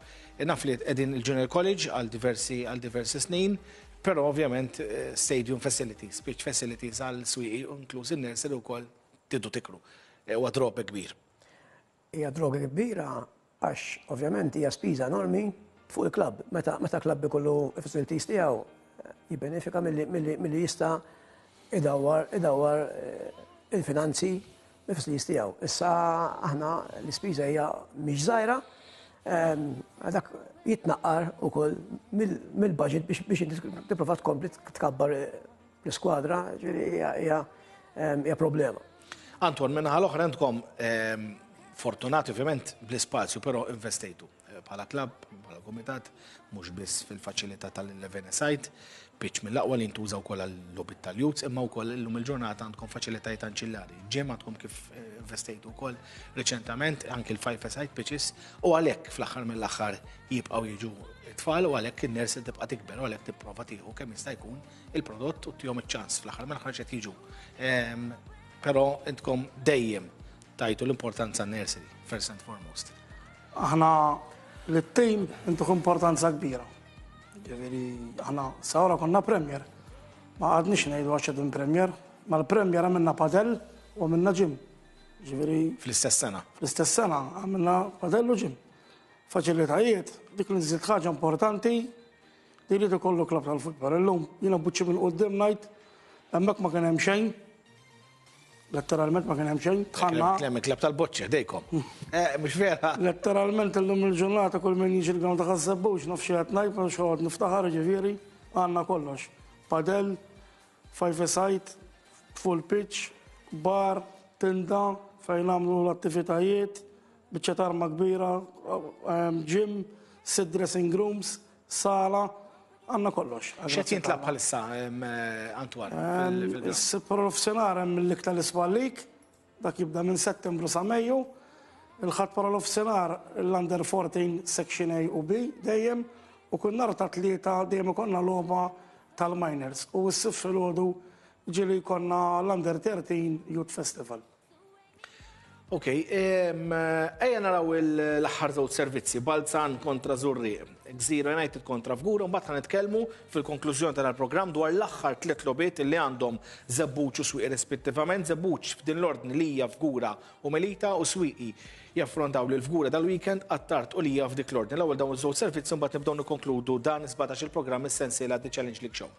Naf li qegħdin il-Junior College għal diversi għal diversi snin, Però ovvjament stadium facilities, pitch facilities għal swieqi inkluż in-nursery wkoll tridu tikru. Huwa drawback kbir. Hija drawback kbira għax ovvjament hija spiża enormi fuq il-klabb. Meta meta klabb ikollu facilities tiegħu jibbenefika milli jista' idawwar idawwar il-finanzi mill-facilities tiegħu. Issa aħna l-ispiża hija mhix żgħira, dak jitnaqqar ukoll mill-budget biex inti tipprova tkompli tkabbar l-iskwadra, ġifieri hija problema. Anton, min-naħa l-oħra intkom fortunati ovvjament bl-ispazju, però investejtu. Bħala klabb, bħala kumitat, mhux biss fil-faċilità tal-11 site, pitch mill-aqwa li jintuża wkoll għal-logħbiet tal-youths, imma wkoll illum il-ġurnata għandkom faċilitajiet anċillari. Gym għandkom kif investejtu wkoll riċentament, anki l-five side pitches, u għalhekk fl-aħħar mill-aħħar jibqgħu jiġu t-tfal u għalhekk in-nursery tibqa' tikber u għalhekk tipprova tieħu kemm jista' jkun il-prodott u tihom iċ-ċans fl-aħħar mill-aħħar x'qed jiġu. Però intkom dejjem tajtu l-importanza għan-nursery, first and foremost. Aħna lit-tim intuh importanza kbira. Ġifieri aħna sa ora konna Premier. Ma qgħadniex ngħidu għax qegħdin Premier. Mal-Premier għamilna padel u għamilna gym. Ġifieri Fl-istess sena. Fl-istess sena għamilna padel u gym. Faċilitajiet, dik li nżid ħaġa importanti li jrid ikollu klabb tal-futbol. Illum jiena buċċi minn quddiem ngħid hemmhekk ma kien hemm xejn. Letteralment ma kien hemm xejn, tħanna. Klem il-klab tal-boċċa dejkom. Eh, mhux vera. Letteralment illum il-ġurnata kull min jiġi l-ground ta' Ħaż-Żebbuġ naf xi qed ngħid, ma nafx noqgħod niftaħar ġifieri, għandna kollox. Padel, five side, full pitch, bar, tinda fejn nagħmlu l-attivitajiet, biċċa tarma kbira, ehm, gym, sit dressing rooms, sala, għandna kollox. X'qed jintlagħab bħalissa, Antoine? Is-sitt wara nofsinhar hemm il-lig tal-Iswal League, dak jibda minn Settembru sa Mejju. Il-Ħadd wara nofsinhar l-Under 14 Section A u B dejjem u kull nhar ta' Tlieta dejjem ikollna logħba tal-Minors u s-Sibt filgħodu ġieli jkollna l-Under 13 Youth Festival. Ok, ejja naraw l-aħħar żewġ servizzi, Balzan kontra Żurrieq, Gżira United kontra Fgura, mbagħad ħa nitkellmu fil-konklużjoni tal-programm dwar l-aħħar tliet logħbiet li għandhom Żebbuġ u Swieqi rispettivament. Żebbuġ f'din l-ordni Lija, Fgura u Melita u Swieqi jaffrontaw lil Fgura dal-weekend, Attard u Lija f'dik l-ordni. L-ewwel dawn iż-żewġ servizzi mbagħad nibdew nikkonkludu dan is-17 il-programm is-sensiela The Challenge League Show.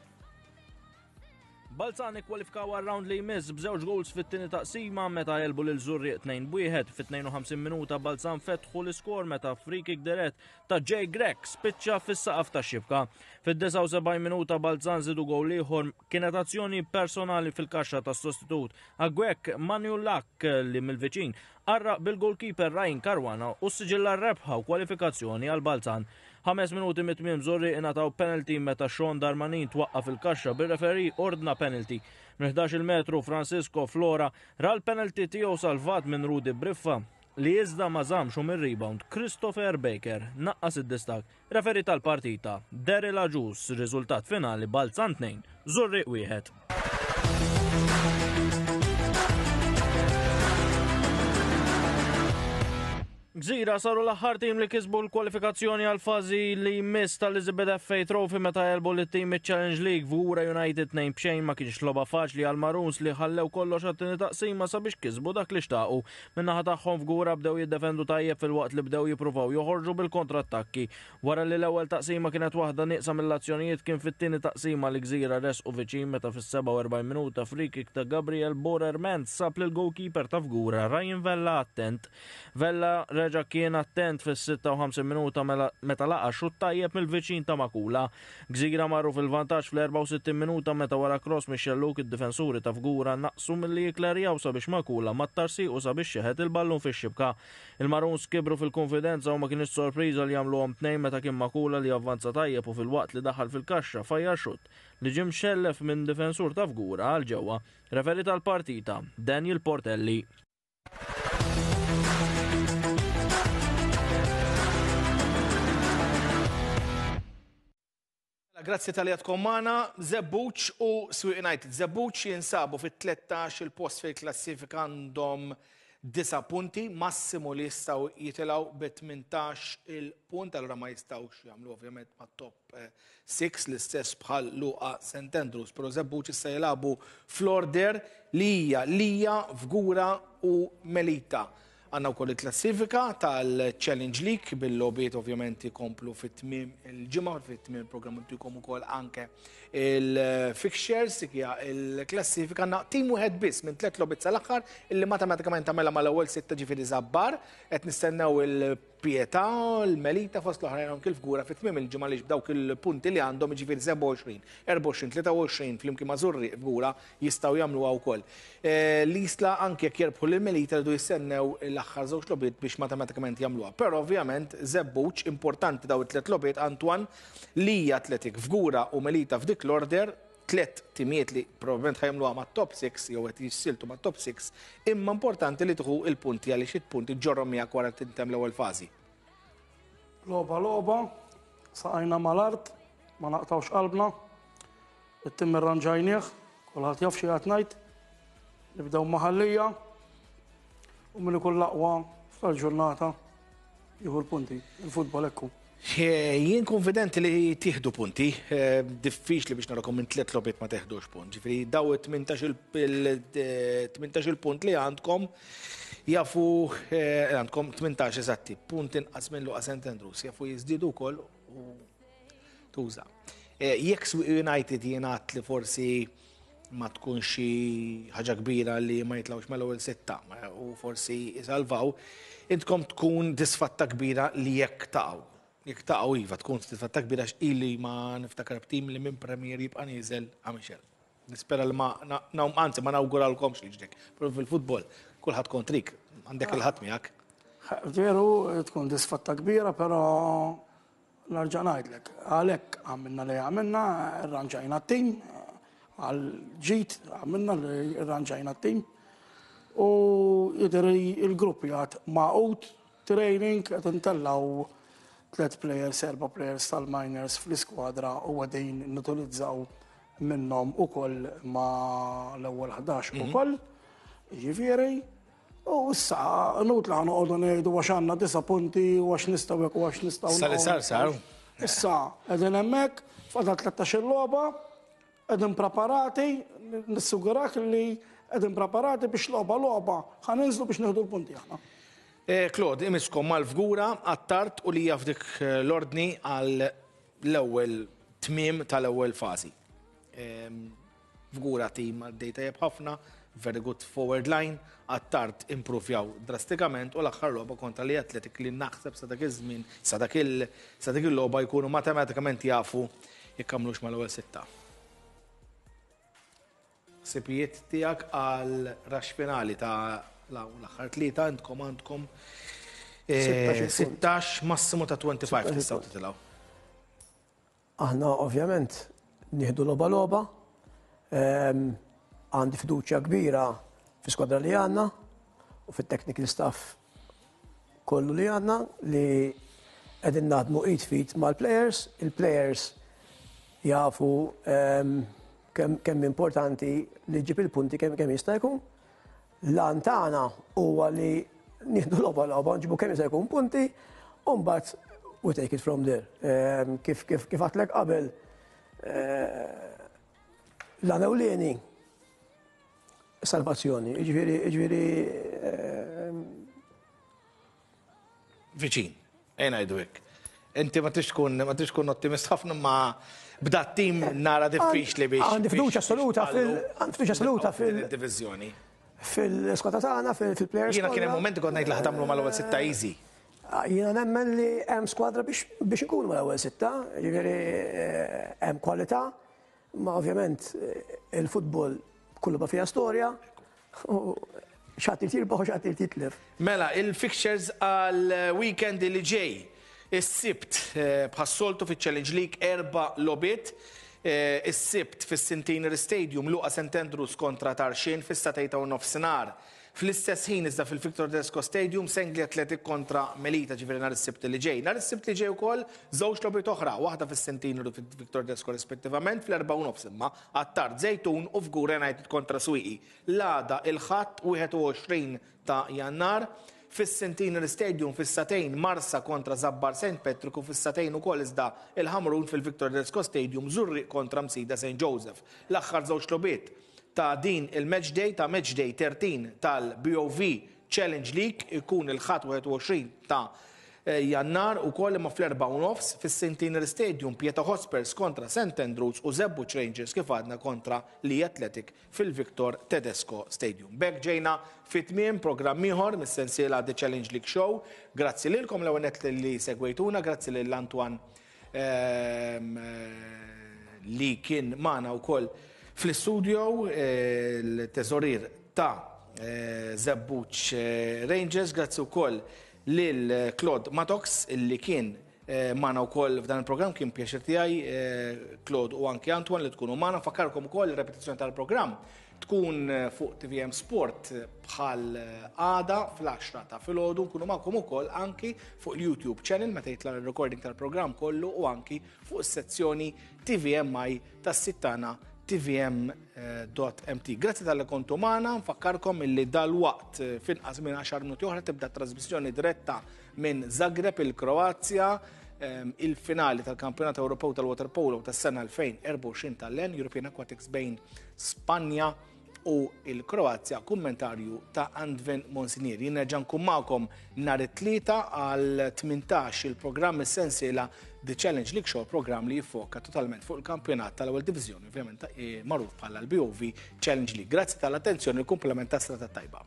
Balzan ikkwalifikaw għar-round li jmiss b'żewġ goals fit-tieni taqsima meta għelbu lil Żurrieq 2-1. Fit-52 minuta Balzan fetħu l-iskor meta free kick dirett ta' Jay Grech spiċċa fis-saqaf tax-xibka. Fid-79 minuta Balzan żidu gowl ieħor kienet azzjoni personali fil-kaxxa tas-sostitut Agwek Manulak li mill-viċin qarraq bil-goalkeeper Ryan Caruana u ssiġilla r-rebħa u kwalifikazzjoni għal Balzan. Ħames minuti mit-tmiem Żurrieq ingħataw penalty meta Sean Darmanin twaqqa' fil-kaxxa bir-referee ordna penalty. Minn 11-il metru Francisco Flora ra l-penalty tiegħu salvat minn Rudi Briffa li iżda ma żammx u mir-rebound Christopher Baker naqqas id-distakk. Referee tal-partita Daryl Agius, riżultat finali Balzan 2, Żurrieq 1. Gżira saru l-aħħar tim li kisbu l-kwalifikazzjoni għal fażi li jmiss tal-Elizabeth FA Trophy meta għelbu lit-tim miċ-Challenge League Fgura United 2 b'xejn ma kienx logħba faċli għal Maroons li ħallew kollox għat-tieni taqsima sabiex kisbu dak li xtaqu. Min-naħa tagħhom Fgura bdew jiddefendu tajjeb filwaqt li bdew jippruvaw joħorġu bil-kontrattakki. Wara li l-ewwel taqsima kienet waħda nieqsa mill-azzjonijiet kien fit-tieni taqsima li Gżira resqu viċin meta fis-47 minuta free-kick ta' Gabriel Bohrer Mentz sab lill-goalkeeper ta' Fgura Ryan Vella attent. Vella reġa' kien attent fis-56 minuta meta laqa' xutt tajjeb mill-viċin ta' Makula. Gżira marru fil-vantaġġ fl-64 minuta meta wara cross mix-xellug id-difensuri ta' Fgura naqsu milli jikklerjaw sabiex Makula mattar siequ sabiex xeħet il-ballun fix-xibka. Il-Maroons kibru fil-kunfidenza u ma kinitx sorpriża li għamluhom tnejn meta kien Makula li avvanza tajjeb u filwaqt li daħal fil-kaxxa fajjar xutt li ġie mxellef minn difensur ta' Fgura għal ġewwa. Referee tal-partita, Daniel Portelli. Mela, grazzi tal-li għadkom magħna, Żebbuġ u Swieq United. Żebbuġ jinsabu fit-13 il-post fil-klassifika għandhom 9 punti, massimu li jistgħu jitilgħu bi 18 il-punt, allura ma jistgħux jagħmlu ovvjament ma' top 6 eh, l-istess bħal Luqa St. Andrews, però Żebbuġ issa jilagħbu fl-order li hija Lija, Fgura u Melita. Għandna wkoll il-klassifika tal-Challenge League bil-logħbiet ovvjament ikomplu fit-tmiem il-ġimgħa, fit-tmiem il-programm intikom ukoll anke il-fixtures, dik hija il-klassifika. Għandna tim wieħed biss minn tliet logħbiet sal-aħħar illi matematikament tagħmilha mal-ewwel sitta ġifieri Żabbar, qed nistennew il-Pietà, il-Melita fost l-oħrajn anke l-Fgura fit-tmiem il-ġimgħa għaliex b'dawk il-punti li għandhom jiġifieri 27, 24, 23 flimkien ma' Żurrieq Fgura jistgħu jagħmluha wkoll. L-Isla anke jekk jerbħu lil Melita jridu jistennew l-aħħar żewġ logħbiet biex matematikament jagħmluha. Però ovvjament Żebbuġ importanti daw it-tliet logħbiet Antoine Lija Athletic Fgura u Melita f'dik l-order tliet timijiet li probabbilment ħajamluha mat-top 6 jew qed jissiltu mat-top 6, imma importanti li tieħu il-punti għaliex il-punti ġorhom miegħek wara tintemm l-ewwel fażi. Logħba logħba, saqajna mal-art, ma naqtgħux qalbna. It-tim irranġajnieh, kulħadd jaf xi qed ngħid. Nibdew ma' Ħal Lija u min ikun l-aqwa f'tal-ġurnata jieħu l-punti. Il-futbol hekk hu. Jien konfidenti li tieħdu punti, diffiċli biex narakom minn tliet logħbiet ma teħdux punt. Ġifieri daw it-18 il-punt li għandkom jafu għandkom 18 eżatti, punt inqas minn Luqa St. Andrews, jafu jiżdiedu wkoll u tuża. Eh, jekk Swieqi United jingħad li forsi ma tkunx xi ħaġa kbira li ma jitlawx mal-ewwel sitta eh, u forsi jisalvaw, intkom tkun disfatta kbira li jekk taqgħu. Jekk taqgħu iva tkun disfatta kbira x'ili ma niftakar b'tim li minn Premier jibqa' nieżel għamixel. Nispera li ma, anzi ma nawguralkomx li ġdek. Pero fil-futbol, kulħadd kontrik, għandek il-ħadd miegħek. Veru, tkun disfatta kbira, pero Nerġa' ngħidlek, għalhekk għamilna li għamilna, irranġajna t-tim, għal ġid għamilna li irranġajna t-tim. U jidher il-grupp jgħat magħqud, training, qed intellgħu tliet players, erba' players tal-minors fl-iskwadra u qegħdin nutilizzaw minnhom ukoll ma' l-ewwel 11 ukoll. Jiġifieri, U issa, inutli ħa noqogħdu ngħidu għax għandna disa' punti u għax nistgħu hekk u għax nistgħu. Issa li sar sar. Issa, qegħdin hemmhekk, fadal 13-il logħba, qegħdin preparati, nissigurak li qegħdin preparati biex logħba logħba ħa ninżlu biex nieħdu l-punti aħna. Eh, Claude, imiskom mal-Fgura, Attard u Lija f'dik eh, l-ordni għal l-ewwel tmiem tal-ewwel fażi. Ehm, Fgura tim għaddej tajjeb ħafna, very good forward line, Attard impruvjaw drastikament u l-aħħar logħba kontra li Athletic li naħseb sa dak iż-żmien, sa dak il sa dik il-logħba jkunu matematikament jafu jekk għamlux mal-ewwel sitta. Ħsibijiet tiegħek għal rax finali ta' l-aħħar tlieta intkom għandkom 16 eh, massimu ta' 25 tistgħu titilgħu. Aħna ovvjament nieħdu logħba logħba. Ehm, għandi fiduċja kbira fi skwadra li għandna u fit-technical staff kollu li għandna li qegħdin naħdmu id fit mal-players, il-players jafu ehm, kemm importanti li ġib il-punti kemm kemm jista' jkun. L-għan tagħna huwa li nieħdu logħba logħba, nġibu kemm jista' jkun punti, u mbagħad we take it from there. Ehm, kif kif kif għatlek qabel eh, l-għan ewlieni salvazzjoni, jiġifieri jiġifieri ehm, Viċin, ejja ngħidu hekk. Inti ma tix tkun ma tix tkun ottimist ħafna ma b'da tim nara diffiċli biex. Għandi fiduċja assoluta fil għandi fiduċja assoluta fil diviżjoni. Fil-skwadra tagħna, fil-players. Jiena kien hemm momenti kont ngħid li ħatamlu mal-ewwel sitta easy. Jiena nemmen li hemm skwadra biex biex inkunu mal-ewwel sitta, jiġifieri eh, hemm kwalità, ma ovvjament eh, il-futbol kullu ma fiha storja, X'għad irid jirbaħ u x'għad irid jitlef. Mela, il-fixtures għal weekend li ġej. Is-Sibt eh, bħas-soltu fiċ-Challenge League erba' logħbiet. Eh, is-Sibt fis-Centenary Stadium Luqa St Andrews kontra Tarxien fis-satejta u nofsinhar. Fl-istess ħin iżda fil-Victor Tedesco Stadium Sengli Athletic kontra Melita ġifieri nhar is-Sibt li ġej. Nhar is-Sibt li ġej ukoll żewġ logħbiet oħra, waħda fis-Centenary u fil-Victor Tedesco rispettivament fl-4 u nofs imma Attard Żejtun u Fgura United kontra Swieqi. L-għada il-Ħadd 21 ta' Jannar, fis-Centenary Stadium fis-sagħtejn Marsa kontra Żabbar St Patrick u fis-sagħtejn ukoll iżda il-Ħamrun fil-Victor Tedesco Stadium Żurrieq kontra Msida St Joseph. L-aħħar żewġ logħbiet ta' din il-match day ta' match day 13 tal-BOV Challenge League ikun il-Ħadd 21 ta' Jannar ukoll imma fl-4:30 fis-Centenary Stadium Pieta Hotspurs kontra St Andrews u Żebbuġ Rangers kif għadna kontra Lija Athletic fil-Victor Tedesco Stadium. B'hekk ġejna fi tmiem programm ieħor mis-sensiela The Challenge League Show. Grazzi lilkom l-ewwel nett li segwejtuna, grazzi lil Antoine ehm, li kien magħna wkoll fl-istudio il-teżorier ta' eh, Żebbuġ eh, Rangers, grazzi wkoll lil Claude Matox li kien magħna wkoll f'dan il-programm kien pjaċir tiegħi Claude u anki Antoine li tkunu magħna. Fakkarkom ukoll ir-repetizzjoni tal-programm tkun fuq TVM Sport bħal għada fl-10 ta' filgħodu nkunu magħkom ukoll anki fuq il-YouTube channel meta jitla' r-recording tal-programm kollu u anki fuq is-sezzjoni TVMI tas-sit tagħna tvm.mt. Grazzi tal-li kontu magħna, nfakkarkom illi dal-waqt eh, finqas minn 10 minuti oħra tibda trasmissjoni diretta minn Zagreb il-Kroazja ehm, il-finali tal-Kampjonat Ewropew tal-Waterpolo tas-sena 2024 tal-LEN European Aquatics bejn Spanja u l-Kroazja, kummentarju ta' Andven Monsinier. Jien nerġa' nkun magħkom nhar it-Tlieta għal 18 il-programm is-sensiela The Challenge League Show, programm li jiffoka totalment fuq il-kampjonat tal-ewwel diviżjoni, ovvjament eh, magħruf bħala l-BOV Challenge League. Grazzi tal-attenzjoni, il-kumplament ta' strata tajba.